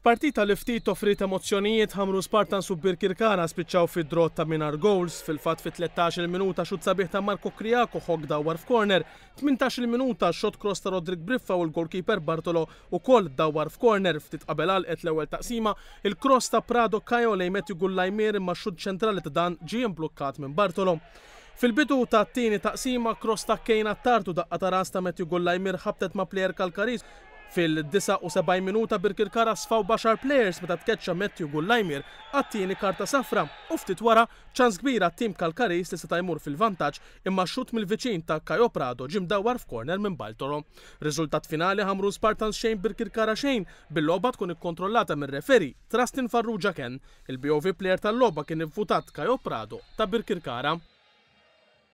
F'partita li ftit offriet emozzjonijiet, Ħamrun Spartans u Birkirkara spiċċaw fi draw ta' mingħajr goals. Fil-fatt fit-13-il minuta xutt sabiħ ta' Marco Criaco Hogg dawwar f'corner, 18-il minuta shot cross ta' Roderick Briffa u l-goalkeeper Bartolo ukoll dawwar f'corner. Ftit qabel għalqet l-ewwel taqsima, il-cross ta' Prado Caio lejn Matthew Gullajmier imma x-xutt ċentrali ta' dan ġie imblukkat minn Bartolo. Fil-bidu tat-tieni taqsima, cross ta' Kane Attard u daqqa ta' ras ta' Matthew Gullajmier ħabtet ma' plejer Kalkariż. Fil-79 minuta Birkirkara sfaw b'għaxar plejers meta tkeċċa Matthew Gullajmier għat-tieni karta safra u ftit wara ċans kbir għat-tim Kalkariż li seta' jmur fil-vantaġġ imma xutt mill-viċin ta' Caio Prado ġie mdawwar f'corner minn Baltoro. Riżultat finali Ħamrun Spartans xejn Birkirkara xejn bil-logħba tkun ikkontrollata mir-referee Trustin Farrugia Ken. Il-BOV Player tal-logħba kien ivvutat Caio Prado ta' Birkirkara.